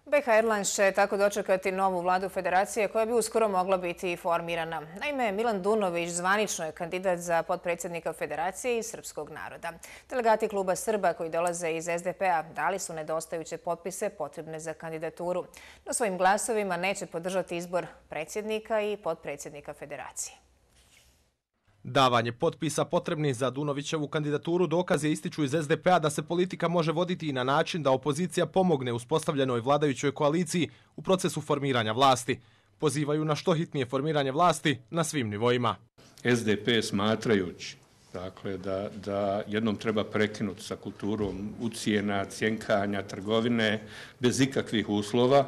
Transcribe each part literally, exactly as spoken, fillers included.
B H Airlines će tako dočekati novu vladu federacije koja bi uskoro mogla biti formirana. Naime, Milan Dunović zvanično je kandidat za potpredsjednika federacije iz srpskog naroda. Delegati kluba Srba koji dolaze iz S D P-a dali su nedostajuće potpise potrebne za kandidaturu. No svojim glasovima neće podržati izbor predsjednika i potpredsjednika federacije. Davanje potpisa potrebnih za Dunovićevu kandidaturu dokaz je, ističu iz S D P-a, da se politika može voditi i na način da opozicija pomogne uspostavljenoj vladajućoj koaliciji u procesu formiranja vlasti. Pozivaju na što hitnije formiranje vlasti na svim nivoima. S D P smatrajući dakle, da, da jednom treba prekinuti sa kulturom ucjena, cjenkanja, trgovine bez ikakvih uslova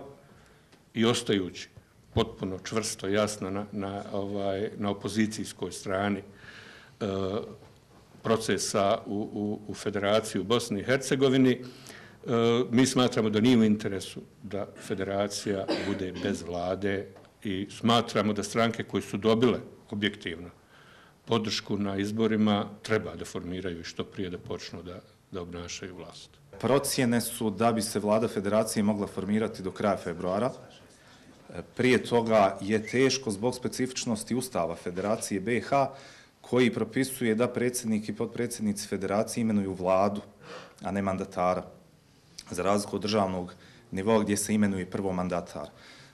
i ostajući potpuno čvrsto, jasno na, na, ovaj, na opozicijskoj strani e, procesa u, u, u Federaciji u Bosni i Hercegovini. E, mi smatramo da nije u interesu da federacija bude bez vlade i smatramo da stranke koje su dobile objektivno podršku na izborima treba da formiraju i što prije da počnu da, da obnašaju vlast. Procjene su da bi se vlada federacije mogla formirati do kraja februara. Prije toga je teško zbog specifičnosti Ustava Federacije B H koji propisuje da predsjednik i potpredsjednici federacije imenuju vladu, a ne mandatara, za razliku od državnog nivoa gdje se imenuje prvo mandatar.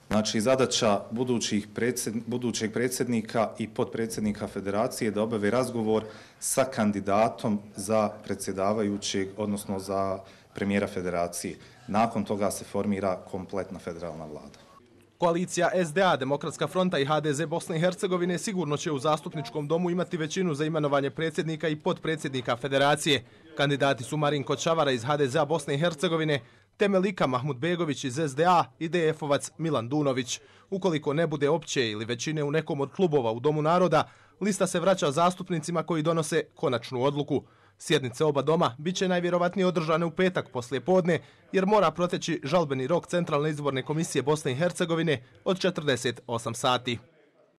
Znači, zadaća budućih predsjed, budućeg predsjednika i potpredsjednika federacije je da obave razgovor sa kandidatom za predsjedavajućeg, odnosno za premijera federacije. Nakon toga se formira kompletna federalna vlada. Koalicija S D A, Demokratska fronta i H D Z Bosne i Hercegovine sigurno će u zastupničkom domu imati većinu za imenovanje predsjednika i potpredsjednika federacije. Kandidati su Marinko Čavara iz H D Z-a Bosne i Hercegovine, te Melika Mahmudbegović iz S D A i D F-ovac Milan Dunović. Ukoliko ne bude opće ili većine u nekom od klubova u Domu naroda, lista se vraća zastupnicima koji donose konačnu odluku. Sjednice oba doma bit će najvjerovatnije održane u petak poslije podne, jer mora proteći žalbeni rok Centralne izborne komisije Bosne i Hercegovine od četrdeset osam sati.